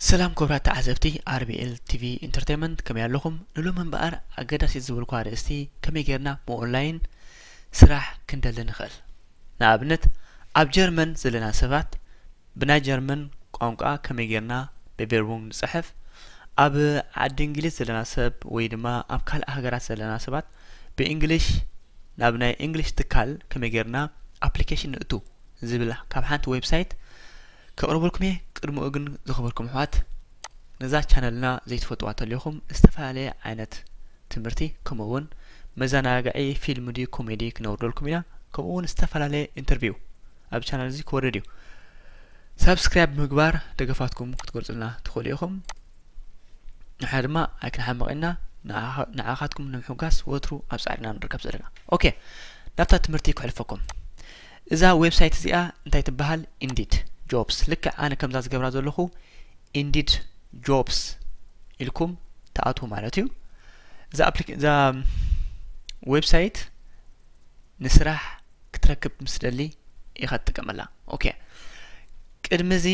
ሰላም ክቡራት ተዓዘብቲ ኣር ቢ ኤል ቲ ቪ ኢንተርቴይንመንት፣ ከመይ ኣለኹም? ንሎሚ እምበኣር ኣገዳሲት ዝበልኩ ኣርእስቲ፣ ከመይ ጌርና ብኦንላይን ስራሕ ክንደሊ ንኽእል። ንኣብነት፣ ኣብ ጀርመን ዘለና ሰባት ብናይ ጀርመን ቋንቋ ከመይ ጌርና ብቬርቡንግ ንጽሕፍ፣ ኣብ ዓዲ እንግሊዝ ዘለና ሰብ ወይ ድማ ኣብ ካልእ ሃገራት ዘለና ሰባት ብእንግሊሽ ናብ ናይ እንግሊሽ ትካል ከመይ ጌርና ኣፕሊኬሽን ንእቱ ዝብል ካብ ሓንቲ ዌብሳይት ከቕርበልኩም እየ። ቅድሚኡ ግን ዝኸበርኩም ኣሕዋት፣ ነዛ ቻነልና ዘይትፈልጥዋ እንተሊኹም ዝተፈላለየ ዓይነት ትምህርቲ ከምኡ እውን መዘናግዒ ፊልም ድዩ ኮሜዲ ክነውርደልኩም ኢና። ከምኡ እውን ዝተፈላለየ ኢንተርቪው ኣብ ቻነል እዚ ክወርድ እዩ። ሳብስክራይብ ብምግባር ደገፋትኩም ክትገልጹልና ትኽእሉ ኢኹም። ንሕና ድማ ኣይክንሓምቕ ኢና፣ ንዓኻ- ንዓኻትኩም ንምሕጓስ ወትሩ ኣብ ጻዕርና ንርከብ ዘለና። ኦኬ፣ ናብታ ትምህርቲ ክሕልፈኩም። እዛ ዌብሳይት እዚኣ እንታይ ትበሃል? ኢንዲድ ጆብስ። ልክዕ ኣነ ከምዛ ዝገብራ ዘለኹ ኢንዲድ ጆብስ ኢልኩም ትኣትዉ ማለት እዩ። እዛ ኣፕሊክ- እዛ ዌብሳይት ንስራሕ ክትረክብ ምስ ደሊ ኢኻ ትጥቀመላ። ኦኬ፣ ቅድሚ እዚ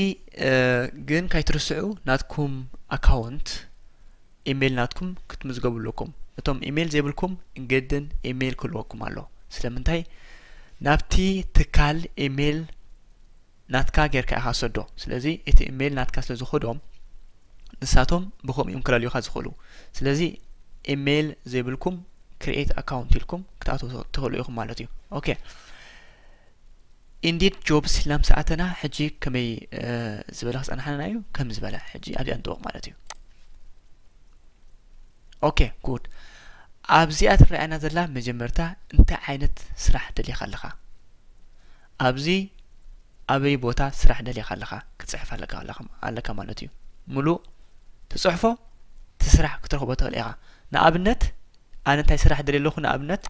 ግን ካይትርስዑ ናትኩም ኣካውንት ኢሜይል ናትኩም ክትምዝገቡ ኣለኩም። እቶም ኢሜይል ዘይብልኩም ግድን ኢሜይል ክህልወኩም ኣሎ። ስለምንታይ? ናብቲ ትካል ኢሜይል ናትካ ጌርካ ኢኻ ሰዶ። ስለዚ እቲ ኢሜይል ናትካ ስለ ዝኸዶም ንሳቶም ብኸምኡ እዮም ክለልዩኻ ዝኽእሉ። ስለዚ ኢሜይል ዘይብልኩም ክሪኤት ኣካውንት ኢልኩም ክትኣትዉ ትኽእሉ ኢኹም ማለት እዩ። ኦኬ፣ ኢንዲድ ጆብስ ኢልና ምስ ኣተና ሕጂ ከመይ ዝበለ ክጸናሕና እዩ? ከም ዝበለ ሕጂ ኣብዚኣ ንጥወቕ ማለት እዩ። ኦኬ፣ ጉድ። ኣብዚኣ ትረኣየና ዘላ መጀመርታ እንታይ ዓይነት ስራሕ ደሊኻ ኣለኻ? ኣብዚ ኣበይ ቦታ ስራሕ ደሊኻ ኣለኻ ክትጽሕፍ ኣለካ ኣለኻ- ኣለካ ማለት እዩ። ሙሉእ ትጽሕፎ እቲ ስራሕ ክትረኽቦ ትኽእል ኢኻ። ንኣብነት ኣነ እንታይ ስራሕ ደልየ ኣለኹ? ንኣብነት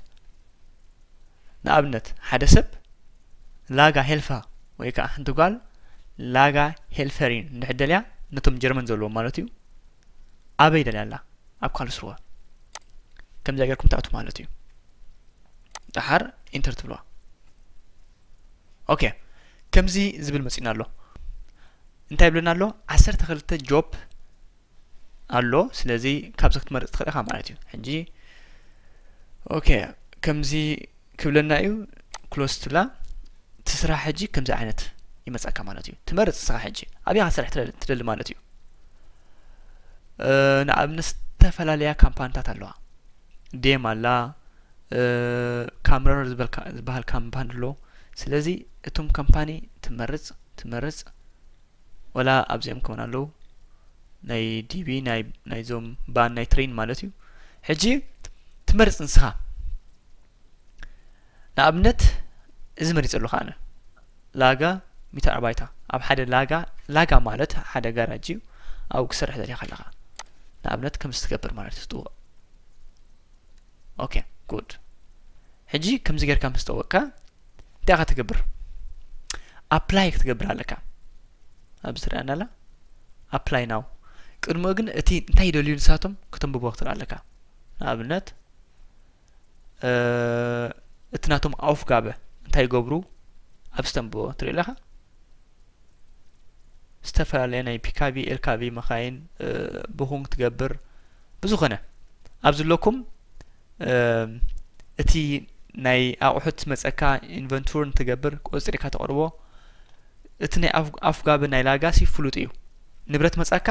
ንኣብነት ሓደ ሰብ ላጋ ሄልፋ ወይ ከዓ ሓንቲ ጓል ላጋ ሄልፈሪን እንድሕር ደልያ ነቶም ጀርመን ዘለዎም ማለት እዩ ኣበይ ደልያ ኣላ? ኣብ ካልስሩወ። ከምዚኣ ጌርኩም ትኣትዉ ማለት እዩ። ደሓር ኢንተር ትብልዋ። ኦኬ፣ ከምዚ ዝብል መጺና ኣሎ። እንታይ ይብለና ኣሎ? ዓሰርተ ክልተ ጆብ ኣሎ። ስለዚ ካብዚ ክትመርጽ ትኽእል ኢኻ ማለት እዩ። ሕጂ ኦኬ፣ ከምዚ ክብለና እዩ። ክሎዝ ትብላ። እቲ ስራሕ ሕጂ ከምዚ ዓይነት ይመጸካ ማለት እዩ። ትመርጽ ንስኻ ሕጂ ኣብይ ኢኻ ስራሕ ትደሊ- ትደሊ ማለት እዩ። እ፣ ንኣብነት ዝተፈላለያ ካምፓኒታት ኣለዋ። ዴም ኣላ፣ እ፣ ካምረር ዝበልካ- ዝበሃል ካምፓኒ ኣሎ። ስለዚ እቶም ካምፓኒ ትመርጽ ትመርጽ ወላ ኣብዚኦም ከውን ኣለዉ ናይ ዲ ቢ ናይ ናይዞም ባን ናይ ትሬን ማለት እዩ። ሕጂ ትመርጽ ንስኻ። ንኣብነት እዚ መሪጸ ኣለኹ ኣነ ላጋ ሚተር ኣርባይታ ኣብ ሓደ ላጋ ላጋ ማለት ሓደ ጋራጅ እዩ። ኣብኡ ክሰርሕ ደሊኻ ኣለኻ ንኣብነት ከም ዝትገብር ማለት እዩ። ትጥውቕ ኦኬ ጉድ። ሕጂ ከምዚ ጌርካ ምስ ጠወቅካ እንታይ ኢኻ ትገብር? ኣፕላይ ክትገብር ኣለካ። ኣብዚ ትረኣና ኣላ ኣፕላይ ናው። ቅድሚኡ ግን እቲ እንታይ ይደልዩ ንሳቶም ከተንብቦ ክትርኢ ኣለካ። ንኣብነት እቲ ናቶም ኣውፍጋበ እንታይ ይገብሩ ኣብዚ ተንብቦ ትርኢ ኣለኻ። ዝተፈላለያ ናይ ፒካቪ ኤልካቪ መኻይን ብኹን ክትገብር ብዝኾነ ኣብ ዝለኩም እቲ ናይ ኣቑሑት መፀካ ኢንቨንቱር እንትገብር ቆፅሪካ ተቕርቦ። እቲ ናይ ኣፍጋቢ ናይ ላጋሲ ፍሉጥ እዩ። ንብረት መፃካ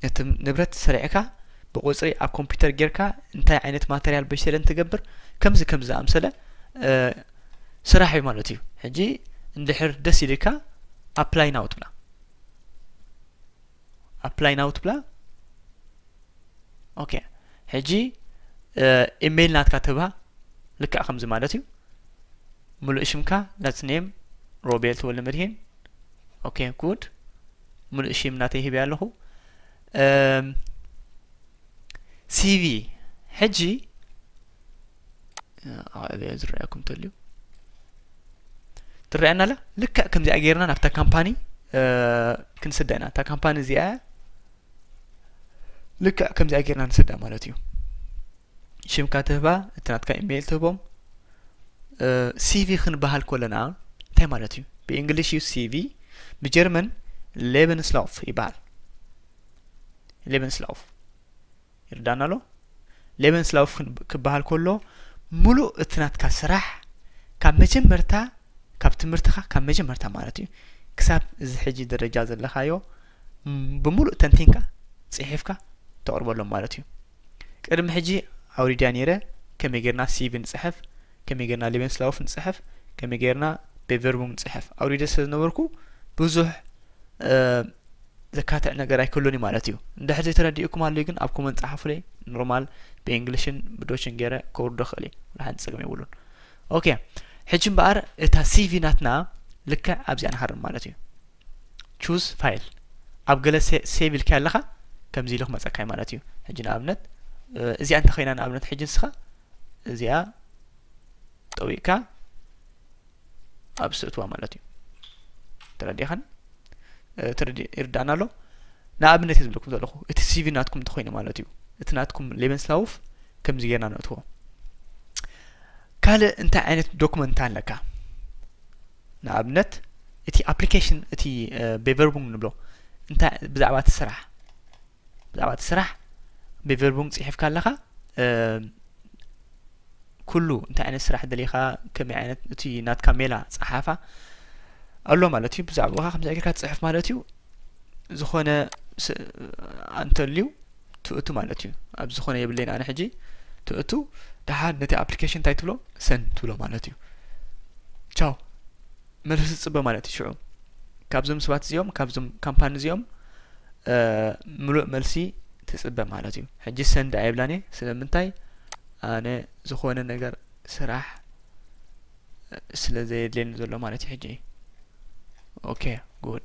እቲ ንብረት ሰሪዕካ ብቆፅሪ ኣብ ኮምፒውተር ጌርካ እንታይ ዓይነት ማተርያል በሽተለ እንትገብር ከምዚ ከምዚ ዝኣምሰለ ስራሕ እዩ ማለት እዩ። ሕጂ እንድሕር ደስ ኢልካ ኣፕላይ ናው ትብላ ኣፕላይ ናው ትብላ። ኦኬ ሕጂ ኢሜይል ናትካ ትህባ ልክዕ ከምዚ ማለት እዩ። ሙሉእ ሽምካ ላስት ኔም ሮቤል ተወልደ መድሂን። ኦኬ ጉድ። ሙሉእ ሽም ናተይ ሂበያ ኣለኹ። ሲቪ ሕጂ ኣዕብዮ ዝረኣየኩም ተልዩ ትረኣየና ኣላ። ልክዕ ከምዚኣ ጌርና ናብታ ካምፓኒ ክንስዳ ኢና። እታ ካምፓኒ እዚኣ ልክዕ ከምዚኣ ጌርና ንስዳ ማለት እዩ። ሽምካ ትህባ፣ እቲ ናትካ ኢሜይል ትህቦም። ሲቪ ክንበሃል ከለና እንታይ ማለት እዩ? ብእንግሊሽ እዩ ሲቪ፣ ብጀርመን ሌበንስላውፍ ይበሃል። Lebenslauf። ይርዳና ኣሎ። Lebenslauf ክበሃል ከሎ፣ ሙሉእ እቲ ናትካ ስራሕ ካብ መጀመርታ፣ ካብ ትምህርትኻ ካብ መጀመርታ ማለት እዩ፣ ክሳብ እዚ ሕጂ ደረጃ ዘለኻዮ፣ ም፣ ብሙሉእ ተንቲንካ ጽሒፍካ ተቕርበሎም ማለት እዩ። ቅድሚ ሕጂ ኣውሪድያ ነይረ፣ ከመይ ጌርና ሲቪ ንጽሕፍ፣ ከመይ ጌርና Lebenslauf ንጽሕፍ፣ ከመይ ጌርና Bewerbung ንጽሕፍ ኣውሪደ ስለ ዝነበርኩ፣ ብዙሕ፣ እ፣ ዘካትዕ ነገር ኣይክህሉን እዩ ማለት እዩ። እንድሕር ዘይተረዲኡኩም ኣሎ ግን ኣብ ኮመንት ጸሓፉለይ። ኖርማል ብእንግሊሽን ብዶችን ገይረ ከውርዶ ክእል እየ። ወላ ሓንቲ ጸገም የብሉን። ኦኬ፣ ሕጂ እምበኣር እታ ሲቪ ናትና ልክዕ ኣብዚኣ ንሃርም ማለት እዩ። Choose file። ኣብ ገለ ሴ-፣ ሴቭ ኢልካ ኣለኻ፣ ከምዚ ኢሉ ክመጸካ እዩ ማለት እዩ። ሕጂ ንኣብነት፣ እ፣ እዚኣ እንተኸይና ንኣብነት ሕጂ ንስኻ እዚኣ ጠዊቕካ ኣብ ስእትዋ ማለት እዩ። ተረዲኻን? እ፣ ተረዲ-፣ ይርዳእና ኣሎ። ንኣብነት እየ ዝብለኩም ዘለኹ፣ እቲ ሲቪ ናትኩም እንተኾይኑ ማለት እዩ። እቲ ናትኩም Lebenslauf ከምዚ ጌርና ነእትዎ። ካልእ እንታይ ዓይነት ዶክመንት ኣለካ? ንኣብነት እቲ ኣፕሊኬሽን፣ እቲ፣ እ፣ Bewerbung ንብሎ፣ እንታይ ብዛዕባ እቲ ስራሕ፣ ብዛዕባ እቲ ስራሕ Bewerbung ጽሒፍካ ኣለኻ፣ እ፣ ኩሉ እንታይ ዓይነት ስራሕ ደሊኻ፣ ከመይ ዓይነት፣ እቲ ናትካ ሜላ ጸሓፋ ኣሎ ማለት እዩ። ብዛዕባኻ ከምዚ ጌርካ ትጽሕፍ ማለት እዩ። ዝኾነ ስ-፣ እንተልዩ ትእቱ ማለት እዩ። ኣብ ዝኾነ የብለይን ኣነ ሕጂ ትእቱ፣ ደሓር ነቲ ኣፕሊኬሽን እንታይ ትብሎ? ሰንድ ትብሎ ማለት እዩ። ቻው። መልሲ ትጽበ ማለት እዩ። ሽዑ ካብዞም ሰባት እዚኦም፣ ካብዞም ካምፓኒ እዚኦም፣ እ፣ ምሉእ መልሲ ትጽበ ማለት እዩ። ሕጂ ሰንድ ኣይብላን እየ። ስለምንታይ? ኣነ ዝኾነ ነገር ስራሕ ስለ ዘየድልየኒ ዘሎ ማለት እዩ ሕጂ። ኦኬ፣ ጉድ።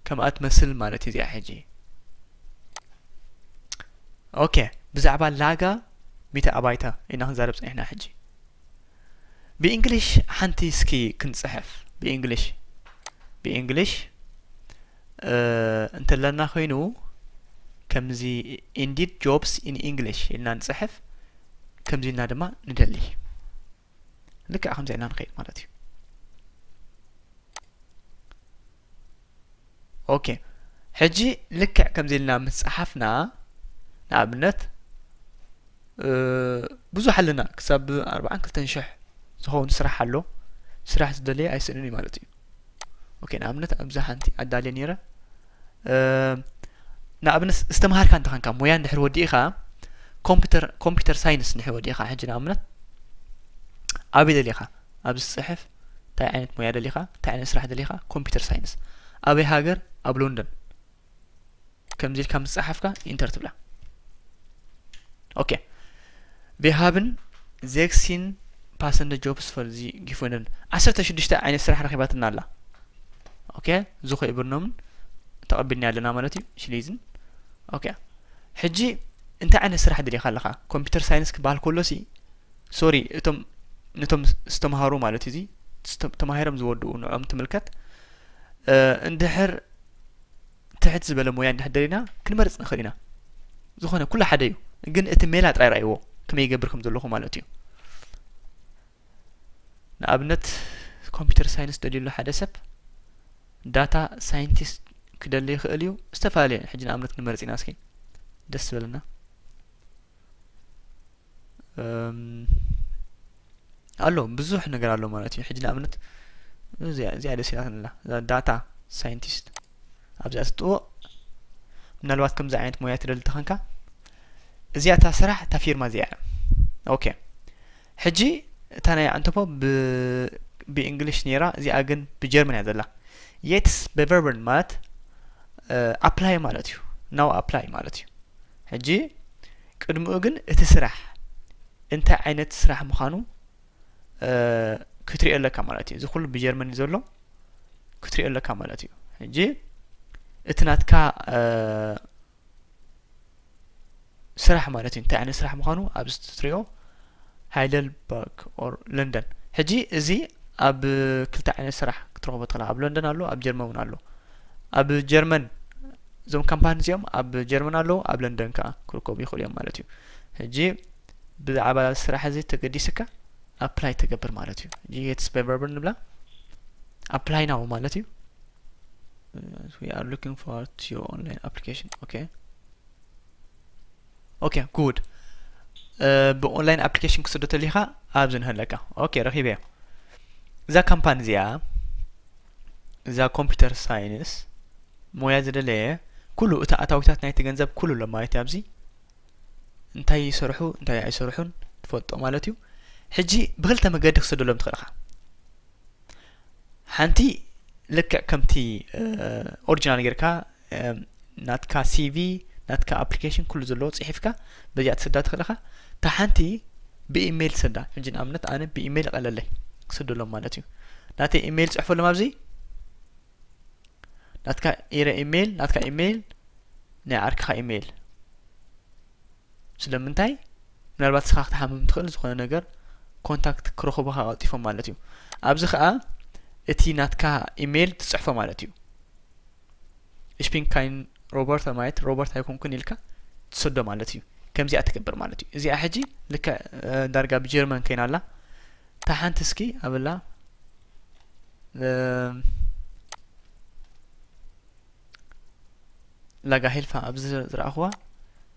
ከምኣ ትመስል ማለት እዩ እዚኣ ሕጂ። ኦኬ፣ ብዛዕባ ላጋ ሚተ ኣባይታ ኢና ክንዛረብ ጸኒሕና ሕጂ። ብእንግሊሽ ሓንቲ እስኪ ክንጽሕፍ። ብእንግሊሽ፣ ብእንግሊሽ፣ እ፣ እንተለና ኮይኑ ከምዚ Indeed jobs in English ኢልና ንጽሕፍ። ከምዚ ኢልና ድማ ንደሊ። ልክዕ ከምዚ ኢልና ንኸይድ ማለት እዩ። ኦኬ፣ ሕጂ ልክዕ ከምዚ ኢልና ምስ ጸሓፍና፣ ንኣብነት፣ እ፣ ብዙሕ ኣለና፣ ክሳብ ኣርባዓን ክልተን ሽሕ ዝኸውን ስራሕ ኣሎ። ስራሕ ዝደለየ ኣይስእንን እዩ ማለት እዩ። ኦኬ፣ ንኣብነት ኣብዛ ሓንቲ ኣዳልየ ነይረ። እ፣ ንኣብነት ዝተምሃርካ እንተኾንካ፣ ሞያ እንድሕር ወዲእኻ፣ ኮምፒውተር፣ ኮምፒውተር ሳይንስ እንድሕር ወዲእኻ፣ ሕጂ ንኣብነት ኣበይ ደሊኻ? ኣብዚ ትጽሕፍ፣ እንታይ ዓይነት ሞያ ደሊኻ? እንታይ ዓይነት ስራሕ ደሊኻ? ኮምፒውተር ሳይንስ። ኣበይ ሃገር? ኣብ ሎንደን። ከምዚ ኢልካ ምስ ጸሓፍካ ኢንተር ትብላ። ኦኬ። Wir haben sechzehn passende Jobs für Sie gefunden። ዓሰርተ ሽዱሽተ ዓይነት ስራሕ ረኺባትና ኣላ። ኦኬ፣ ዝኾ ይብርኖምን ተቐቢልና ኣለና ማለት እዩ። ሽሊዝን። ኦኬ። ሕጂ እንታይ ዓይነት ስራሕ ደሊኻ ኣለኻ? ኮምፒውተር ሳይንስ ክበሃል ከሎ ሲ፣ ሶሪ፣ እቶም፣ ነቶም ዝተምሃሩ ማለት እዩ፣ እዚ ዝተ-፣ ተማሂሮም ዝወድኡ ንዖም ትምልከት። እ፣ እንድሕር ትሕት ዝበለ ሞያ እንድሕር ደሊና ክንመርጽ ንኽእል ኢና። ዝኾነ ኩሉ ሓደ እዩ፣ ግን እቲ ሜላ ጥራይ ረኣይዎ ከመይ ይገብር ከም ዘለኹ ማለት እዩ። ንኣብነት ኮምፒውተር ሳይንስ ደልዩ ኣሎ ሓደ ሰብ፣ ዳታ ሳይንቲስት ክደሊ ይኽእል እዩ። ዝተፈላለየ ሕጂ ንኣብነት ክንመርጽ ኢና እስኪ ደስ ዝበለና። እም፣ ኣሎ ብዙሕ ነገር ኣሎ ማለት እዩ። ሕጂ ንኣብነት እዚኣ፣ እዚኣ ደስ ኢላትኒ ኣላ። እዛ ዳታ ሳይንቲስት ኣብዚኣ ትጥውቕ። ምናልባት ከምዚ ዓይነት ሞያ ትደሊ ተኾንካ፣ እዚኣ እታ ስራሕ እታ ፊርማ እዚኣ እያ። ኦኬ። ሕጂ እታ ናይ ኣንተፖ ብ-፣ ብእንግሊሽ ነይራ፣ እዚኣ ግን ብጀርመን እያ ዘላ። Jetzt bewerben ማለት፣ እ፣ ኣፕላይ ማለት እዩ። ናው ኣፕላይ ማለት እዩ። ሕጂ ቅድሚኡ ግን እቲ ስራሕ እንታይ ዓይነት ስራሕ ምዃኑ፣ እ፣ ክትሪኦ ኣለካ ማለት እዩ። እዚ ኩሉ ብጀርመን እዩ ዘሎ፣ ክትሪኦ ኣለካ ማለት እዩ። ሕጂ እቲ ናትካ፣ እ፣ ስራሕ ማለት እዩ፣ እንታይ ዓይነት ስራሕ ምዃኑ ኣብዚ ትሪኦ፣ ሃይደልበርግ ኦር ለንደን። ሕጂ እዚ ኣብ ክልተ ዓይነት ስራሕ ክትረኽቦ ትኽእል። ኣብ ለንደን ኣሎ፣ ኣብ ጀርመን እውን ኣሎ። ኣብ ጀርመን እዞም ካምፓኒ እዚኦም ኣብ ጀርመን ኣለዉ፣ ኣብ ለንደን ከኣ ክርከቡ ይኽእሉ እዮም ማለት እዩ። ሕጂ ብዛዕባ ስራሕ እዚ ተገዲስካ ኣፕላይ ትገብር ማለት እዩ። ሕጂ Jetzt bewerben ንብላ፣ ኣፕላይ ናው ማለት እዩ። We are looking forward to your online application። ኦኬ። Okay, good. ብኦንላይን ኣፕሊኬሽን ክስዶ ተሊኻ ኣብዚ ንህለካ። Okay፣ ረኺበዮ። እዛ ካምፓኒ እዚኣ፣ እዛ ኮምፒውተር ሳይንስ ሞያ ዝደለየ ኩሉ እቲ ኣታዊታት ናይቲ ገንዘብ ኩሉ ኣሎ ማለት እዩ። ኣብዚ እንታይ ይሰርሑ እንታይ ኣይሰርሑን ትፈልጦ ማለት እዩ። ሕጂ ብክልተ መገዲ ክስደሎም ትኽእል ኢኻ። ሓንቲ ልክዕ ከምቲ ኦሪጂናል ጌርካ ናትካ ሲቪ፣ ናትካ ኣፕሊኬሽን ኩሉ ዘለዎ ጽሒፍካ በዚኣ ትሰዳ ትኽእል ኢኻ። እታ ሓንቲ ብኢሜይል ትሰዳ። ሕጂ ንኣብነት ኣነ ብኢሜይል ይቐለለይ ክስደሎም ማለት እዩ። ናተይ ኢሜይል ጽሕፈሎም ኣብዚ። ናትካ ኢረ ኢሜይል፣ ናትካ ኢሜይል፣ ናይ ዓርክኻ ኢሜይል። ስለምንታይ? ምናልባት ንስኻ ክትሓምም ትኽእል፣ ዝኾነ ነገር ኮንታክት ክረኽቡኻ ቀልጢፎም ማለት እዩ። ኣብዚ ኸኣ እቲ ናትካ ኢሜይል ትጽሕፎ ማለት እዩ። Ich bin kein Roboter ማለት ሮቦት ኣይኮንኩን ኢልካ ትሰዶ ማለት እዩ። ከምዚኣ ትገብር ማለት እዩ። እዚኣ ሕጂ ልክዕ ዳርጋ ብጀርመን ከይና ኣላ። እታ ሓንቲ እስኪ ኣበላ ላጋ ሄልፋ ኣብዚ ዝረኣኽዋ።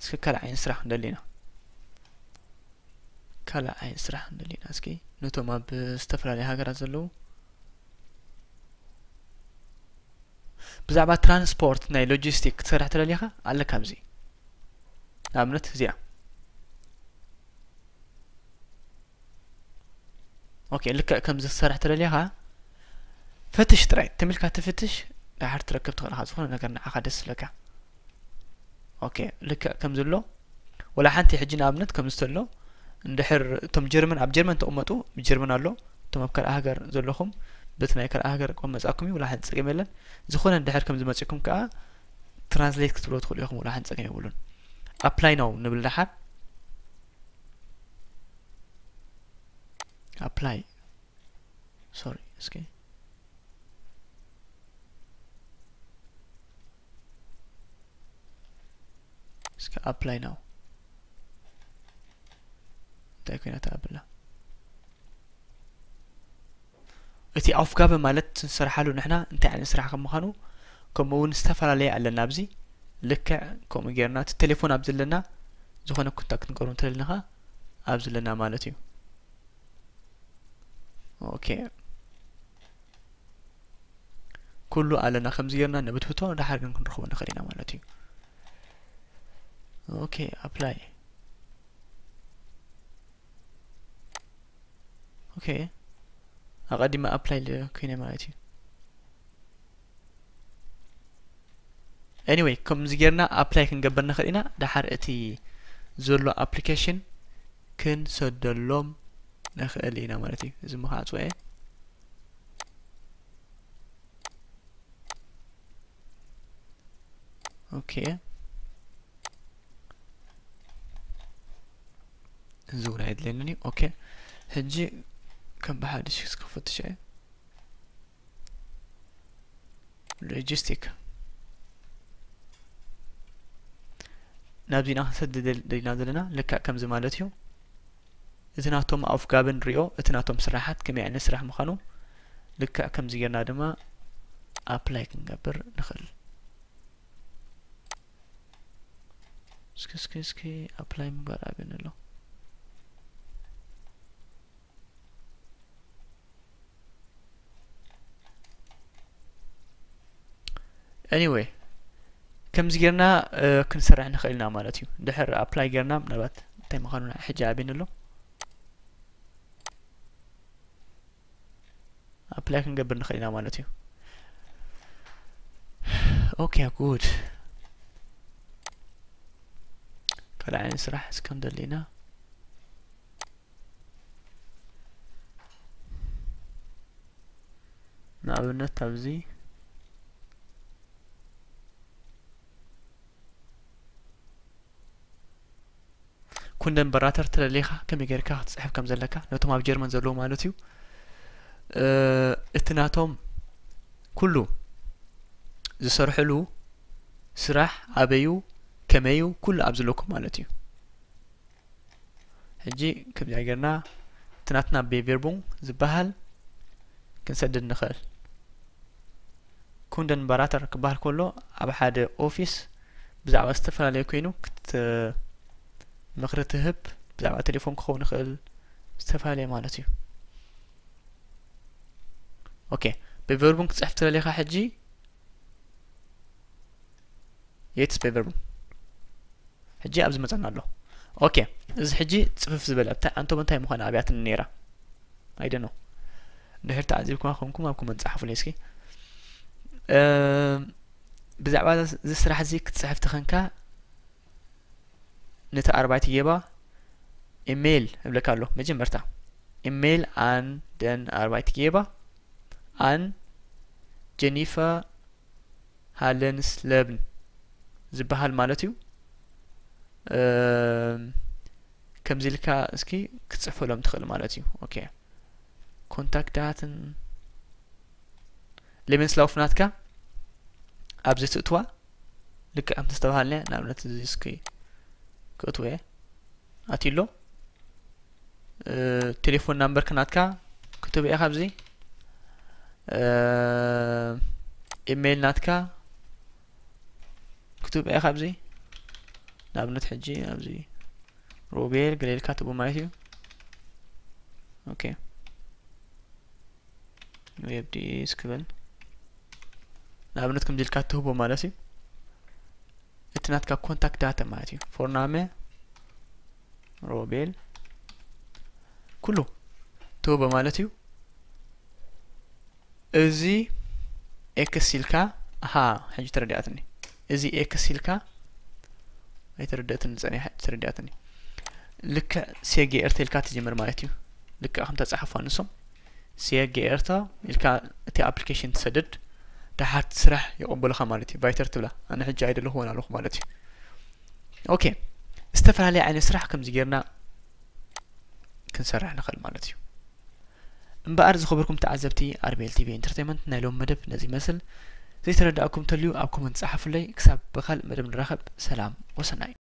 እስኪ ካልእ ዓይነት ስራሕ ክንደሊ ኢና። ካልእ ዓይነት ስራሕ ክንደሊ ኢና እስኪ ነቶም ኣብ ዝተፈላለያ ሃገራት ዘለዉ። ብዛዕባ ትራንስፖርት ናይ ሎጂስቲክ ክትሰርሕ ተደሊኻ ኣለካ ኣብዚ። ንኣብነት እዚኣ። Okay፣ ልክዕ ከምዚ ክትሰርሕ ተደሊኻ ፈትሽ ጥራይ። ትም ኢልካ ትፍትሽ፣ ድሓር ትረክብ ትኽእል ኢኻ ዝኾነ ነገር ንዓኻ ደስ ዝብለካ። Okay፣ ልክዕ ከምዚ ኣሎ። ወላ ሓንቲ ሕጂ ንኣብነት ከምዚ ተሎ፣ እንድሕር እቶም ጀርመን፣ ኣብ ጀርመን ተቐመጡ፣ ብጀርመን ኣሎ። እቶም ኣብ ካልእ ሃገር ዘለኹም፣ በቲ ናይ ካልእ ሃገር ክመጻኩም እዩ፣ ወላ ሓንቲ ጸገም የለን። ዝኾነ እንድሕር ከምዚ መጺኩም ከኣ ትራንስሌት ክትብሎ ትኽእሉ ኢኹም፣ ወላ ሓንቲ ጸገም የብሉን። ኣፕላይ ናው ንብል ደሓር። ኣፕላይ፣ ሶሪ፣ እስኪ እስኪ ኣፕላይ ናው እንታይ ኮይና ትኣብላ። እቲ ኣፍጋበ ማለት ንሰርሓሉ ንሕና እንታይ ዓይነት ስራሕ ከም ምዃኑ፣ ከምኡ እውን ዝተፈላለየ ኣለና። ኣብዚ ልክዕ ከምኡ ጌርና እቲ ቴሌፎን ኣብ ዘለና ዝኾነ ኮንታክት ክንገብሮ እንተለና ኸኣ ኣብዚ ኣለና ማለት እዩ። Okay፣ ኩሉ ኣለና። ከምዚ ጌርና ነብትብቶ፣ ደሓር ግን ክንረኽቦ ንኽእል ኢና ማለት እዩ። Okay፣ ኣፕላይ። Okay፣ ኣቐዲመ ኣፕላይ ኮይነ ማለት እዩ። Anyway፣ ከምዚ ጌርና ኣፕላይ ክንገብር ንኽእል ኢና። ደሓር እቲ ዘሎ ኣፕሊኬሽን ክንሰደሎም ንኽእል ኢና ማለት እዩ። እዚ ምኽዓጽወ። Okay፣ እዚ እውን ኣይድለየንን እዩ። Okay፣ ሕጂ ከም ብሓድሽ ክፈትሽ እየ። ሎጂስቲክ ናብዚና ክንሰድድ ደሊና ዘለና ልክዕ ከምዚ ማለት እዩ። እቲ ናቶም ኣፍጋብን ሪኦ፣ እቲ ናቶም ስራሓት ከመይ ዓይነት ስራሕ ምዃኑ ልክዕ ከምዚ ጌርና ድማ ኣፕላይ ክንገብር ንኽእል። እስኪ እስኪ እስኪ ኣፕላይ ምግባር ኣብየን ኣሎ። Anyway፣ ከምዚ ጌርና ክንሰርሕ ንኽእል ኢና ማለት እዩ። ድሕር ኣፕላይ ጌርና ምናልባት እንታይ ምዃኑ ሕጂ ኣብየን ኣሎ። ኣፕላይ ክንገብር ንኽእል ኢና ማለት እዩ። Okay፣ good። ካልእ ዓይነት ስራሕ እስከ ንደሊ ኢና። ንኣብነት ኣብዚ ኩንደን በራተር ተደሊኻ ከመይ ጌርካ ክትጽሕፍ ከም ዘለካ ነቶም ኣብ ጀርመን ዘለዉ ማለት እዩ። እቲ ናቶም ኩሉ ዝሰርሕሉ ስራሕ ኣበዩ ከመዩ ኩሉ ኣብ ዘለኩም ማለት እዩ። ሕጂ ከምዚኣ ጌርና እቲ ናትና ቤቬርቡንግ ዝበሃል ክንሰድድ ንኽእል። ኩንደን በራተር ክበሃል ከሎ ኣብ ሓደ ኦፊስ ብዛዕባ ዝተፈላለየ ኮይኑ ክት ምኽሪ ትህብ። ብዛዕባ ቴሌፎን ክኸውን ይኽእል፣ ዝተፈላለየ ማለት እዩ። ኦኬ፣ ብቨርቡን ክትጽሕፍ ትደሊኻ ሕጂ የትስ ብቨርቡን። ሕጂ ኣብዚ መጸና ኣሎ። ኦኬ፣ እዚ ሕጂ ጽፍፍ ዝበለ ኣብታ ኣንቶም እንታይ ምዃነ ኣብያትኒ ነይራ። I don't know። እንድሕር ተዓዚብኩማ ኮንኩም ኣብ ኮመንት ጸሓፉለይ እስኪ። እም፣ ብዛዕባ እዚ ስራሕ እዚ ክትጽሕፍ ተኸንካ ነቲ ኣርባይቲ ጌባ ኢሜይል እብለካ ኣሎ። መጀመርታ ኢሜይል ኣን ደን ኣርባይቲ ጌባ ኣን ጀኒፈር ሃለንስለብን ዝበሃል ማለት እዩ። እም፣ ከምዚ ኢልካ እስኪ ክትጽሕፈሎም ትኽእል ማለት እዩ። ኦኬ፣ ኮንታክት ዳትን ሌመንስላውፍ ናትካ ኣብዚ ትእትዋ ልክዕ ከምቲ ዝተባሃልናዮ፣ ንኣብነት እዚ እስኪ ክእትዎ እየ። ኣትዩ ኣሎ። እ፣ ቴሌፎን ናምበርክ ናትካ ክትህቦ ኢኻ ኣብዚ። እ፣ ኢሜይል ናትካ ክትህቦ ኢኻ ኣብዚ። ንኣብነት ሕጂ ኣብዚ ሮቤል ገለ ኢልካ ትህቦ ማለት እዩ። ኦኬ። ዌብ ዲስክ ክብል ንኣብነት ከምዚ ኢልካ ትህቦ ማለት እዩ። እቲ ናትካ ኮንታክት ዳታ ማለት እዩ። ፎርናመ፣ ሮቤል፣ ኩሉ ትህቦ ማለት እዩ። እዚ ኤክስ ኢልካ፣ ኣሃ፣ ሕጂ ተረዲኣትኒ። እዚ ኤክስ ኢልካ ኣይተረደእትን ጸኒሓ፣ ተረዲኣትኒ። ልክዕ ሴጌ ኤርተ ኢልካ ትጅምር ማለት እዩ። ልክዕ ከም ተጻሓፉ ንሶም ሴጌ ኤርተ ኢልካ እቲ ኣፕሊኬሽን ትሰድድ፣ ደሓር ስራሕ ይቕበሉኻ ማለት እዩ። ቫይተር ትብላ፣ ኣነ ሕጂ ኣይደለኹዎን ኣለኹ ማለት እዩ። ኦኬ፣ ዝተፈላለየ ዓይነት ስራሕ ከምዚ ጌርና ክንሰርሕ ንኽእል ማለት እዩ። እምበኣር ዝኸበርኩም ተዓዘብቲ ኣርቤል ቲቪ ኢንተርቴይንመንት፣ ናይ ሎም መደብ ነዚ ይመስል። ዘይተረዳእኩም እንተልዩ ኣብ ኮመንት ጸሓፉለይ። ክሳብ ብኻልእ መደብ ንራኸብ፣ ሰላም ወሰናይ።